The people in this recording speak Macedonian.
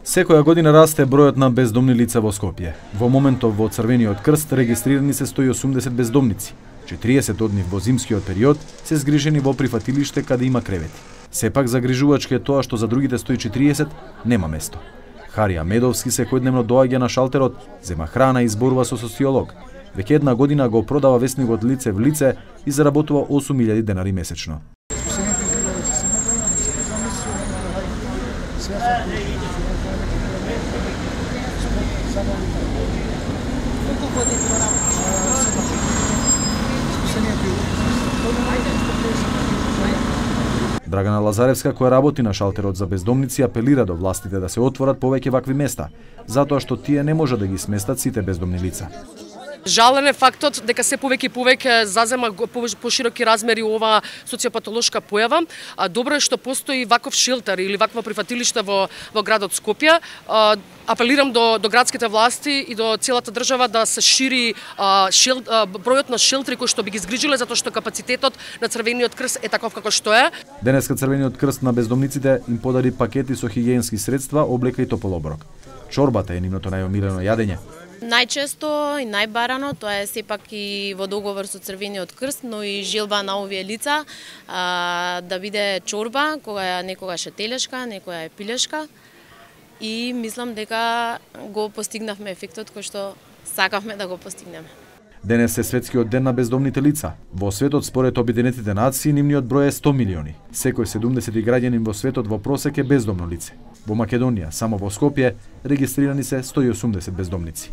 Секоја година расте бројот на бездомни лица во Скопје. Во моментов во Црвениот крст регистрирани се 180 бездомници. 40 од нив во зимскиот период се згрижени во прифатилиште каде има кревети. Сепак загрижувачки е тоа што за другите 140 нема место. Харија Медовски секојдневно доаѓа на шалтерот, зема храна и зборува со социолог. Веќе една година го продава весникот лице в лице и заработува 8.000 денари месечно. Драгана Лазаревска, која работи на шалтерот за бездомници, апелира до властите да се отворат повеќе вакви места, затоа што тие не може да ги сместат сите бездомни лица. Жален е фактот дека се повеќе и повеќе зазема пошироки размери ова социопатолошка појава. Добро е што постои ваков шелтер или вакво прифатилиште во градот Скопје. Апелирам до градските власти и до целата држава да се шири бројот на шелтери кои што би ги згрижиле, затоа што капацитетот на Црвениот крст е таков како што е. Денеска Црвениот крст на бездомниците им подари пакети со хигиенски средства, облека и топол оброк. Чорбата е нивното најомилено јадење. Најчесто и најбарано тоа е сепак и во договор со Црвениот крст, но и желба на овие лица да биде чорба, која некогаш е телешка, некоја е пилешка. И мислам дека го постигнавме ефектот кој што сакавме да го постигнеме. Денес е светскиот ден на бездомните лица. Во светот, според Обединетите нации, нивниот број е 100 милиони. Секој 70 граѓанин во светот во просек е бездомно лице. Во Македонија, само во Скопје, регистрирани се 180 бездомници.